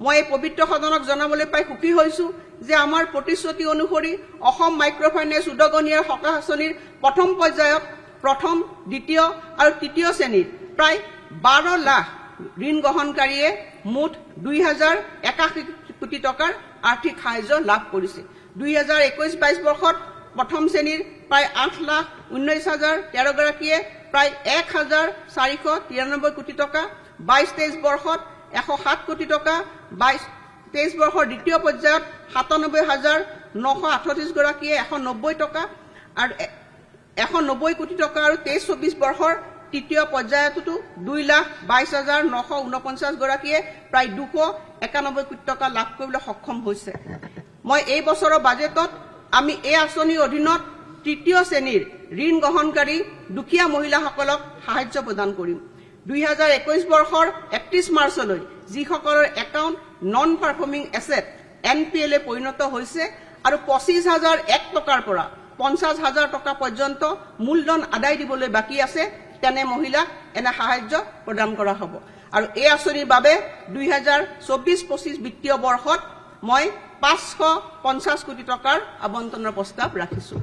মই এই পবিত্ৰ সদনক জনাবলৈ পাই সুখী হৈছোঁ যে আমাৰ প্ৰতিশ্ৰুতি অনুসৰি অসম মাইক্ৰ'ফাইনেন্স উদগনিয়াৰ সকাহ আঁচনিৰ প্ৰথম পৰ্যায়ত প্ৰথম, দ্বিতীয় আৰু তৃতীয় শ্ৰেণীৰ প্ৰায় 12 লাখ ঋণ গ্ৰহণকাৰীয়ে মুঠ 2081 কোটি টকাৰ আৰ্থিক সাহায্য লাভ কৰিছে। 2021-22 বৰ্ষত প্ৰথম শ্ৰেণীৰ প্ৰায় 8,19,013 গৰাকীয়ে প্ৰায় 1,493 কোটি টকা, 22-23 বৰ্ষত 107 কোটি টকা, 22-23 বৰ্ষৰ দ্বিতীয় পৰ্যায়ত 97,938 গৰাকীয়ে 190 টকা আৰু 190 কোটি টকা আৰু 23-24 বৰ্ষৰ তৃতীয় পৰ্যায়তো 2,22,949 গৰাকীয়ে প্ৰায় 291 কোটি টকা লাভ কৰিবলৈ সক্ষম হৈছে। মই এই বছৰৰ বাজেটত আমি এই আঁচনিৰ অধীনত তৃতীয় শ্ৰেণীৰ ঋণ গ্ৰহণকাৰী দুখীয়া মহিলাসকলক সাহায্য প্ৰদান কৰিম। 2021 বৰ্ষৰ 31 মাৰ্চলৈ যিসকলৰ account non performing asset N P এলে পৰিণত হৈছে আৰু 25,001 টকাৰ পৰা 50,000 টকা পৰ্যন্ত মূলধন আদায় দিবলৈ বাকী আছে, তেনে মহিলাক এনে সাহায্য প্ৰদান কৰা হ'ব। আৰু এই আঁচনিৰ বাবে 2024-25 বিত্তীয় বৰ্ষত মই 550 কোটি টকাৰ আবণ্টনৰ প্ৰস্তাৱ ৰাখিছোঁ।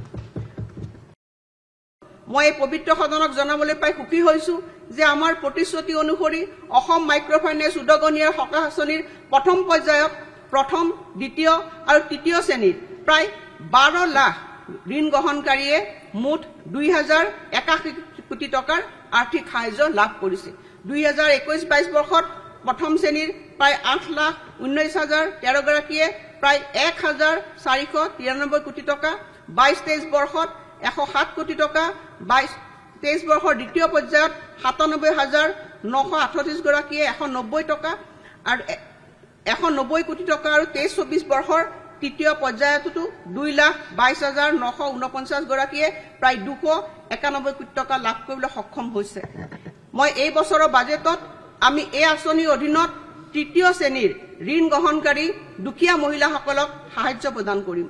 মই এই পবিত্ৰ সদনক জনাবলৈ পাই সুখী হৈছোঁ যে আমাৰ প্ৰতিশ্ৰুতি অনুসৰি অসম মাইক্ৰ'ফাইনেন্স উদগনিয়াৰ সকাহ আঁচনিৰ প্ৰথম পৰ্যায়ত প্ৰথম, দ্বিতীয় আৰু তৃতীয় শ্ৰেণীৰ প্ৰায় 12 লাখ ঋণ গ্ৰহণকাৰীয়ে মুঠ 2081 কোটি টকাৰ আৰ্থিক সাহায্য লাভ কৰিছে। 2021-22 বৰ্ষত প্ৰথম শ্ৰেণীৰ প্ৰায় 8,19,013 গৰাকীয়ে প্ৰায় 1,493 কোটি টকা, 22-23 বৰ্ষত 107 কোটি টকা, 22-23 বৰ্ষৰ দ্বিতীয় পৰ্যায়ত 97,938 গৰাকীয়ে 190 টকা আৰু 190 কোটি টকা আৰু 23-24 বৰ্ষৰ তৃতীয় পৰ্যায়তো 2,22,949 গৰাকীয়ে প্ৰায় 291 কোটি টকা লাভ কৰিবলৈ সক্ষম হৈছে। মই এই বছৰৰ বাজেটত আমি এই আঁচনিৰ অধীনত তৃতীয় শ্ৰেণীৰ ঋণ গ্ৰহণকাৰী দুখীয়া মহিলাসকলক সাহায্য প্ৰদান কৰিম।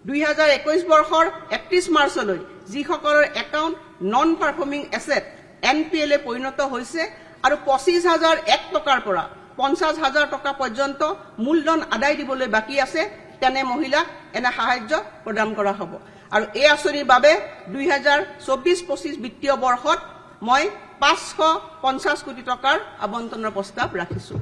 2021 বৰ্ষৰ 31 মাৰ্চলৈ যিসকলৰ account non performing asset N P এলে পৰিণত হৈছে আৰু 25,001 টকাৰ পৰা 50,000 টকা পৰ্যন্ত মূলধন আদায় দিবলৈ বাকী আছে, তেনে মহিলাক এনে সাহায্য প্ৰদান কৰা হ'ব। আৰু এই আঁচনিৰ বাবে 2024-25 বিত্তীয় বৰ্ষত মই 550 কোটি টকাৰ আবণ্টনৰ প্ৰস্তাৱ ৰাখিছোঁ।